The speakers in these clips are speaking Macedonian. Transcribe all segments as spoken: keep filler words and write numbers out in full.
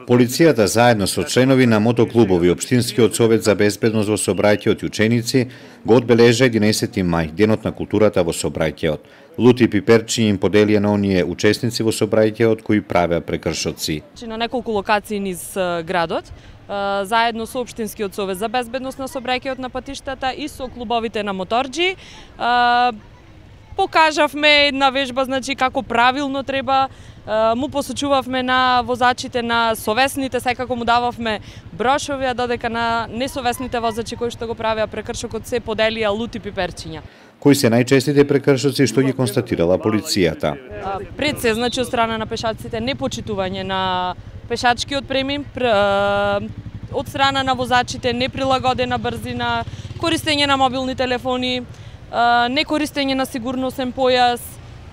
Полицијата заедно со членови на мотоклубови Општинскиот совет за безбедност во сообраќајот и ученици го одбележа единаесети мај, денот на културата во сообраќајот. Лути пиперчиња им поделија на оние учесници во сообраќајот кои правеа прекршоци. На неколку локации низ градот, заедно со Општинскиот совет за безбедност на сообраќајот на патиштата и со клубовите на моторџи, покажавме една вежба, значи како правилно треба, му посочувавме на возачите, на совесните, секако му дававме брошови, а додека на несовесните возачи кои што го правеа прекршокот се поделија лути пиперчиња. Кои се најчестите прекршоци што ги констатирала полицијата? Пред се, значи од страна на пешаците, непочитување на пешачкиот премин, од страна на возачите неприлагодена брзина, користење на мобилни телефони, некористење на сигурносен појас,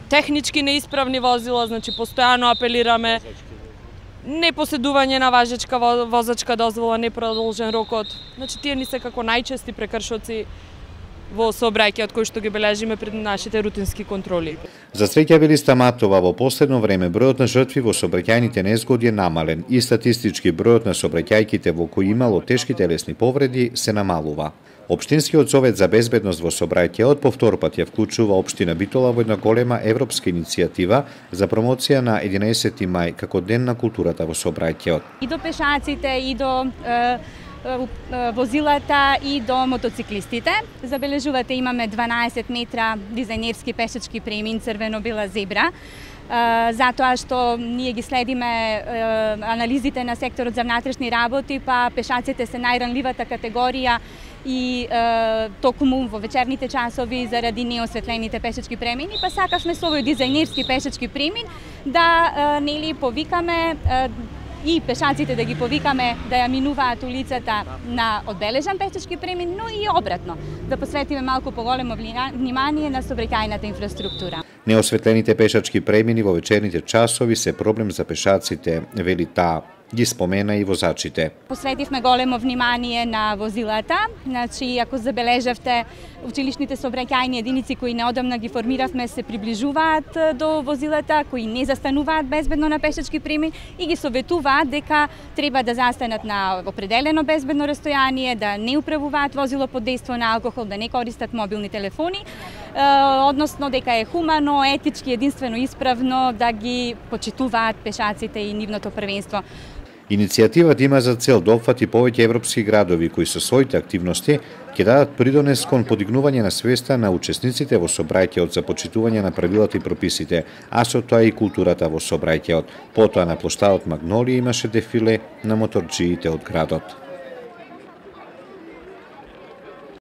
технички неисправни возила, значи постојано апелираме, непоседување на важечка возачка дозвола, непродолжен рокот. Значи тие ни се како најчести прекршоци во сообраќајот кои што ги бележиме пред нашите рутински контроли. За среќа, вели Стаматова, во последно време бројот на жртви во сообраќајните незгоди е намален и статистички бројот на сообраќајките во кои имало тешки телесни повреди се намалува. Општинскиот совет за безбедност во сообраќајот повтор пат ја вклучува општина Битола во една голема европска иницијатива за промоција на единаесети мај како ден на културата во сообраќајот. И до пешаците, и до е, возилата, и до мотоциклистите. Забележувате, имаме дванаесет метра дизајнерски пешачки премин црвено-бела зебра. Затоа што ние ги следиме анализите на секторот за внатрешни работи, па пешаците се најранливата категорија и е, токму во вечерните часови заради неосветлените пешачки премини, па сакавме со овој дизајнерски пешачки премин да е, нели повикаме е, и пешаците да ги повикаме да ја минуваат улицата на одбележан пешачки премин, но и обратно, да посветиме малку поголемо внимание на сообраќајната инфраструктура. Неосветлените пешачки премини во вечерните часови се проблем за пешаците, вели таа. Ги спомена и возачите. Посветивме големо внимание на возилата. Значи, ако забележавте, училишните сообраќајни единици кои неодамна ги формиравме се приближуваат до возилата, кои не застануваат безбедно на пешачки премин и ги советуваат дека треба да застанат на определено безбедно растојание, да не управуваат возило под дејство на алкохол, да не користат мобилни телефони, односно дека е хумано, етички, единствено исправно да ги почитуваат пешаците и нивното првенство. Иницијативата има за цел да опфати повеќе европски градови кои со своите активности ќе дадат придонес кон подигнување на свеста на учесниците во сообраќајот за почитување на правилата и прописите, а со тоа и културата во сообраќајот. Потоа на плоштадот Магнолија имаше дефиле на моторџиите од градот.